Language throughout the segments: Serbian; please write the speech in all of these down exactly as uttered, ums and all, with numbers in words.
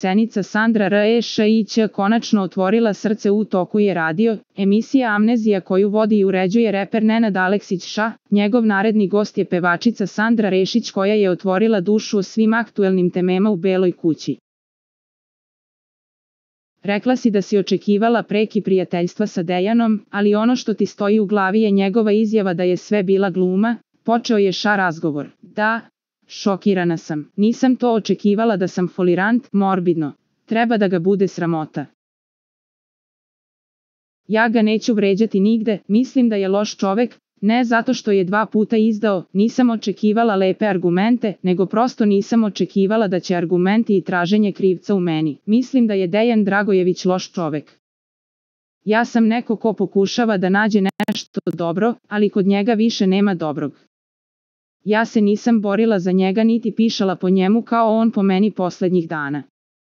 Senica Sandra Rešić konačno otvorila srce u toku je radio, emisija Amnezija koju vodi i uređuje reper Nenad Aleksić Ša, njegov naredni gost je pevačica Sandra Rešić koja je otvorila dušu o svim aktuelnim temama u Beloj kući. Rekla si da si očekivala preki prijateljstva sa Dejanom, ali ono što ti stoji u glavi je njegova izjava da je sve bila gluma, počeo je Ša razgovor. Da, šokirana sam, nisam to očekivala da sam folirant, morbidno, treba da ga bude sramota. Ja ga neću vređati nigde, mislim da je loš čovek, ne zato što je dva puta izdao, nisam očekivala lepe argumente, nego prosto nisam očekivala da će argumenti i traženje krivca u meni. Mislim da je Dejan Dragojević loš čovek. Ja sam neko ko pokušava da nađe nešto dobro, ali kod njega više nema dobrog. Ja se nisam borila za njega niti pišala po njemu kao on po meni poslednjih dana.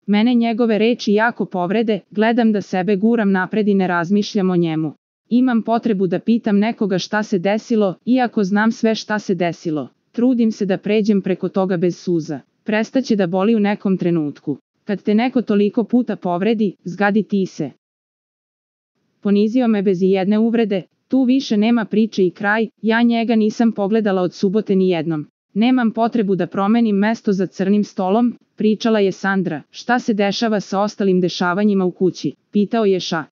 Mene njegove reči jako povrede, gledam da sebe guram napred i ne razmišljam o njemu. Imam potrebu da pitam nekoga šta se desilo, iako znam sve šta se desilo. Trudim se da pređem preko toga bez suza. Prestaće da boli u nekom trenutku. Kad te neko toliko puta povredi, zgadi ti se. Ponizio me bez ijedne uvrede, tu više nema priče i kraj, ja njega nisam pogledala od subote ni jednom. Nemam potrebu da promenim mesto za crnim stolom, pričala je Sandra. Šta se dešava sa ostalim dešavanjima u kući, pitao je Ša.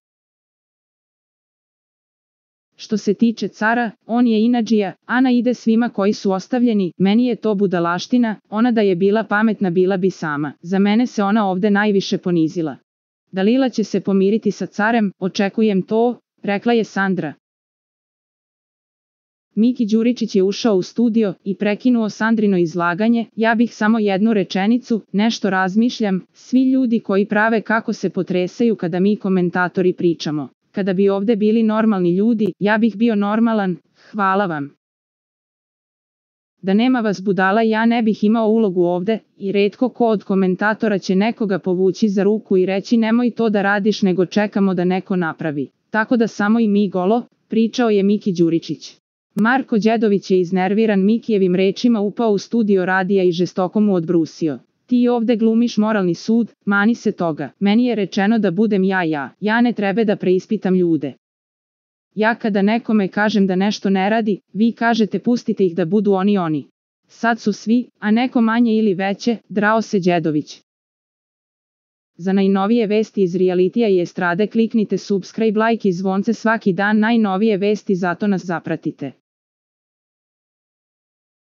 Što se tiče cara, on je inadžija, Ana ide svima koji su ostavljeni, meni je to budalaština, ona da je bila pametna bila bi sama. Za mene se ona ovde najviše ponizila. Dalila će se pomiriti sa carem, očekujem to, rekla je Sandra. Miki Đuričić je ušao u studio i prekinuo Sandrino izlaganje, ja bih samo jednu rečenicu, nešto razmišljam, svi ljudi koji prave kako se potresaju kada mi komentatori pričamo. Kada bi ovde bili normalni ljudi, ja bih bio normalan, hvala vam. Da nema vas budala ja ne bih imao ulogu ovde, i retko ko od komentatora će nekoga povući za ruku i reći nemoj to da radiš nego čekamo da neko napravi. Tako da samo i mi golo, pričao je Miki Đuričić. Marko Đedović je iznerviran Mikijevim rečima upao u studio radija i žestoko mu odbrusio. Ti ovde glumiš moralni sud, mani se toga. Meni je rečeno da budem ja ja, ja ne treba da preispitam ljude. Ja kada nekome kažem da nešto ne radi, vi kažete pustite ih da budu oni oni. Sad su svi, a neko manje ili veće, drao se Đedović. Za najnovije vesti iz realitija i estrade kliknite subscribe, like i zvonce svaki dan najnovije vesti zato nas zapratite.